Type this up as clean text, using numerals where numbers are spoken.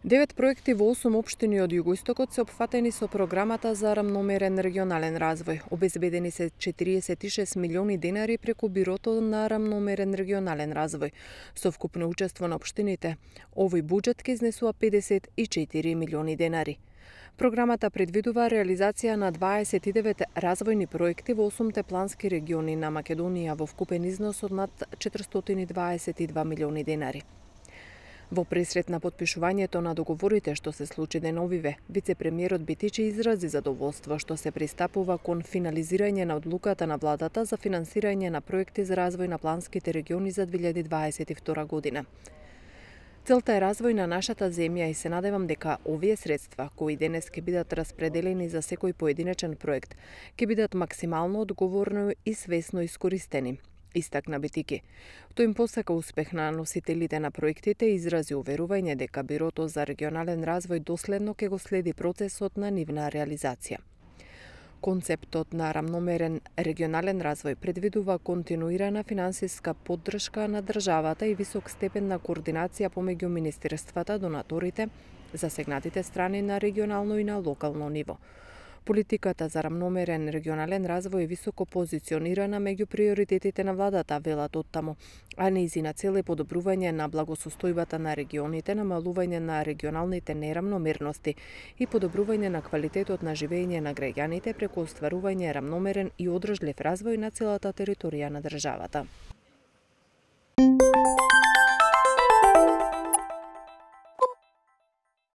Девет проекти во 8 општини од југоистокот се опфатени со програмата за рамномерен регионален развој. Обезбедени се 46 милиони денари преку Бирото на рамномерен регионален развој. Со вкупно учество на општините, овој буџет ќе изнесува 54 милиони денари. Програмата предвидува реализација на 29 развојни проекти во 8 плански региони на Македонија во вкупен износ од над 422 милиони денари. Во пресрет на потпишувањето на договорите што се случи деновиве, вице-премиерот Битичи изрази задоволство што се пристапува кон финализирање на одлуката на владата за финансирање на проекти за развој на планските региони за 2022 година. Целта е развој на нашата земја и се надевам дека овие средства, кои денес ќе бидат распределени за секој поединечен проект, ќе бидат максимално одговорно и свесно искористени, истакна Битики. Тој им посака успех на носителите на проектите и изрази уверување дека Бирото за регионален развој доследно ќе го следи процесот на нивна реализација. Концептот на рамномерен регионален развој предвидува континуирана финансиска поддршка на државата и висок степен на координација помеѓу министерствата, донаторите, засегнатите страни на регионално и на локално ниво. Политиката за рамномерен регионален развој е високо позиционирана меѓу приоритетите на владата, велат оттаму, а нејзина цел е подобрување на благосостојбата на регионите, намалување на регионалните нерамномерности и подобрување на квалитетот на живење на граѓаните преку остварување рамномерен и одржлив развој на целата територија на државата.